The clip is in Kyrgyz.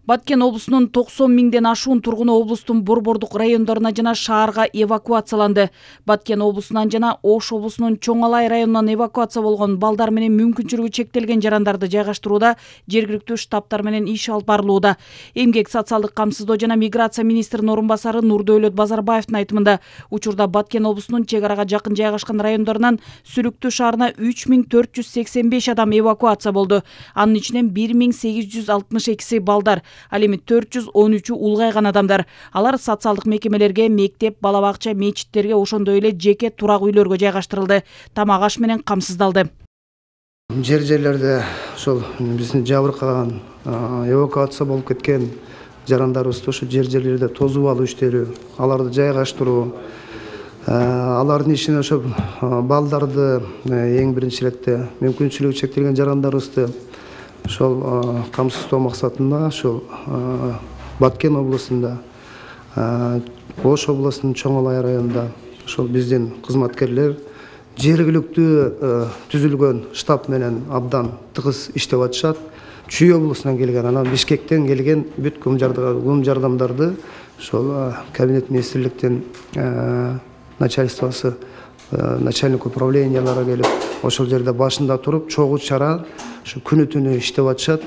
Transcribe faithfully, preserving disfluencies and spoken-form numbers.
Баткен облусунун токсон миңден ашуун тургуну облустун борбордук райондоруна жана шаарга эвакуацияланды. Баткен облусунан жана Ош облусунун Чоң Алай районунан эвакуация болгон балдар менен мүмкүнчүлүгү чектелген жарандарды жайгаштырууда жергиликтүү штабтар менен иш алып барылууда. Эмгек, социалдык камсыздоо жана миграция министринин орун басары Нурдөөлөт Базарбаевдин айтымында, учурда Баткен облусунун чек арага жакын жайгашкан райондорунан Сүлүктүү шаарына үч миң төрт жүз сексен беш адам эвакуация болду. Анын ичинен бир миң сегиз жүз алтымыш экиси балдар, ал эми төрт жүз он үчү улгайган адамдар. Алар социалдык мекемелерге, мектеп, бала бакча, мечиттерге, ошондой эле жеке турак үйлөргө жайгаштырылды. Тамак аш менен камсыздалды. Жер жерлерде ошол биздин жабыркаган, эвакуация болуп кеткен жарандарыбызды ошо жер жерлерде тосуп алуу иштери, аларды жайгаштыруу, алардын ичине ошо балдарды эң биринчи иретте мүмкүнчүлүгү чектелген жарандарыбызды ошол камсыздоо максатында ошол Баткен облусунда, Ош облусунун Чоң Алай районунда ошол биздин кызматкерлер жергиликтүү түзүлгөн штаб менен абдан тыгыз иштеп атышат. Чүй облусунан келген, анан Бишкектен келген бүт кум жардамдарды ошол кабинет министрликтин начальствосы, начальник управлениялары келип, ошол жерде башында туруп, чогуу чара ушу күнү түнү иштеп атышат.